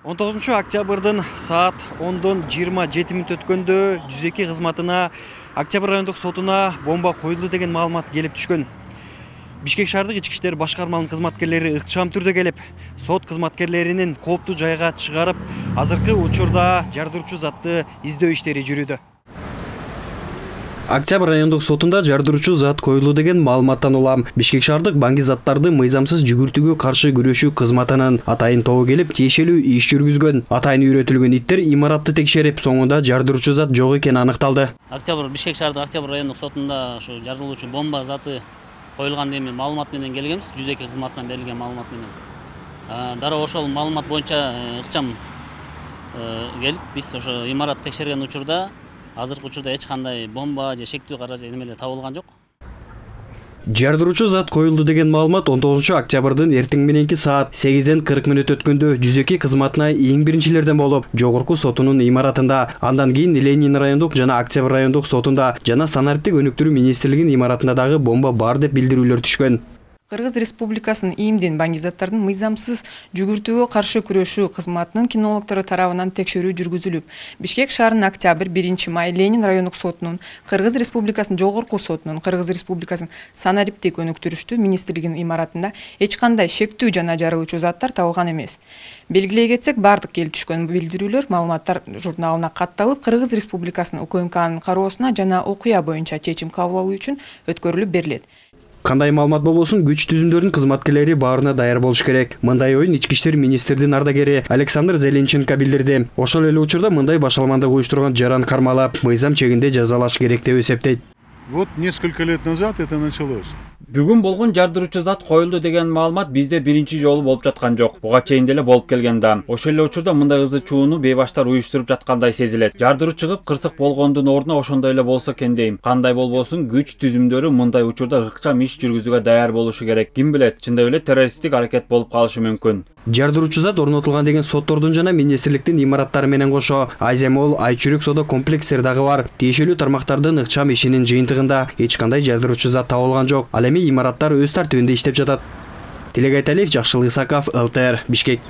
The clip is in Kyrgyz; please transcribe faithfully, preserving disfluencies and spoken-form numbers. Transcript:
он тогузунчу октябрдын саат ондон жыйырма жети мүнөт өткөндө жүз эки кызматына Октябрь райондук сотуна бомба коюлду деген маалымат келип түшкөн. Бишкек шаардык ички иштер башкармалынын кызматкерлери ыкчам түрдө келип, сот кызматкерлеринин кооптуу жайга чыгарып, азыркы учурда жардыруучу затты издөө иштери жүрүүдө. Октябрь райондук сотунда жардыруучу зат коюлду деген маалыматтан улам Бишкек шаардык баңги заттарды мыйзамсыз жүгүртүүгө каршы күрөшүү кызматынын атайын тобу келип тиешелүү иш жүргүзгөн. Атайын үйрөтүлгөн иттер имаратты текшерип, соңунда жардыруучу зат жок экени аныкталды. Октябрь Бишкек шаардык Октябрь райондук сотунда ушу жардыруучу бомба заты коюлган деген маалымат менен келгенбиз. жүз эки кызматынан берилген маалымат менен. Дароо ошол маалымат боюнча ыкчам келип, биз ошо имарат текшерген учурда азыркы учурда эч кандай бомба же шектүү каражат немелер табылган жок. Жардыруучу зат коюлду деген маалымат он тогузунчу октябрдын эртең мененки саат сегизден кырк мүнөт өткөндө жүз эки кызматына эң биринчилерден болуп, жогорку сотунун имаратында, андан кийин Ленин райондук жана Октябрь райондук сотунда жана санариптик өнүктүрүү министрлигинин имаратында дагы бомба бар деп билдирүүлөр түшкөн. Кыргыз Республикасынын ИИМдин баңги заттардын мыйзамсыз жүгүртүүгө каршы күрөшүү кызматынын кинологдору тарабынан текшерүү жүргүзүлүп, Бишкек шаарынын Октябрь биринчи май Ленин райондук сотунун, Кыргыз Республикасынын жогорку сотунун, Кыргыз Республикасынын санариптик өнүктүрүү министрлигинин имаратында эч кандай шектүү жана жарылуучу заттар табылган эмес. Белгилей кетсек, бардык келип түшкөн билдирүүлөр маалыматтар журналына катталып, Кыргыз Республикасынын УКМКнын кароосуна жана окуя боюнча чечим кабыл алуу үчүн өткөрүлүп берилет. Кандай маалымат болбосун, күч түзүмдөрүнүн кызматкерлери баарына даяр болуш керек. Мындай оюн ички иштер министрдин ардагери Александр Зеленченко билдирди. Ошол эле учурда мындай башаламандык уюштурган жаран кармалап, мыйзам чегинде жазалаш керек деп эсептейт. Вот несколько лет назад это началось. Бүгүн болгон жардыруучу зат коюлду деген маалымат бизде биринчи жолу болуп жаткан жок. Буга чейин деле болуп келген да. Ошол эле учурда мындай ызы чууну бейбаштар уюштуруп жаткандай сезилет. Жардыруу чыгып, кырсык болгондун ордуна ошондой эле болсо экен дейм. Кандай болбосун, күч түзүмдөрү мындай учурда ыкчам иш жүргүзүүгө даяр болушу керек. Ким билет, чындап эле террористтик аракет болуп калышы мүмкүн. Жардыруучу зат орнотулган деген соттордун жана министрликтин имараттары менен кошо Айземол, Айчүрүк соода комплекстери дагы бар. Тиешелүү тармактардын ыкчам ишинин жыйынтыгында эч кандай жардыруучу зат табылган жок. Ал эми имараттар өз тартибинде иштеп жатат. Тилек Айталиев, Жакшылык Исаков, эл тэ эр, Бишкек.